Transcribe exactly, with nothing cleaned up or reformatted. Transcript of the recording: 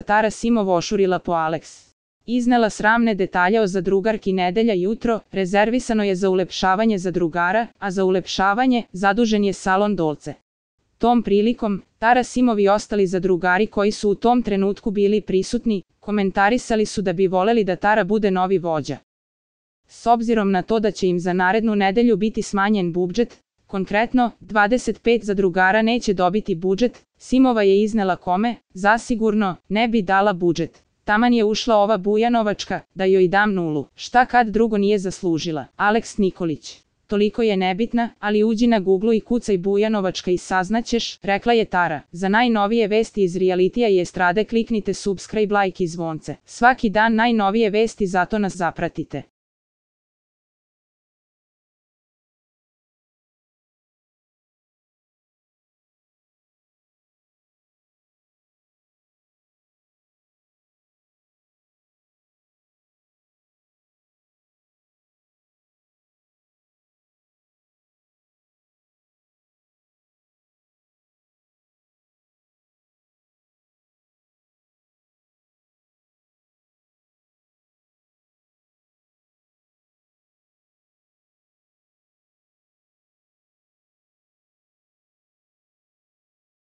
Tara Simov ošurila po Alex. Iznela sramne detalje o zadrugarki Nedelja jutro, rezervisano je za ulepšavanje zadrugara, a za ulepšavanje zadužen je salon Dolce. Tom prilikom, Tara Simov i ostali zadrugari koji su u tom trenutku bili prisutni, komentarisali su da bi voleli da Tara bude novi vođa. S obzirom na to da će im za narednu nedelju biti smanjen budžet, konkretno, dvadeset pet zadrugara neće dobiti budžet, Simova je iznela kome, zasigurno, ne bi dala budžet. Taman je ušla ova Bujanovačka, da joj dam nulu. Šta kad drugo nije zaslužila? Aleks Nikolić. Toliko je nebitna, ali uđi na Google i kucaj Bujanovačka i saznaćeš, rekla je Tara. Za najnovije vesti iz realitija i estrade kliknite subscribe, like i zvonce. Svaki dan najnovije vesti, zato nas zapratite.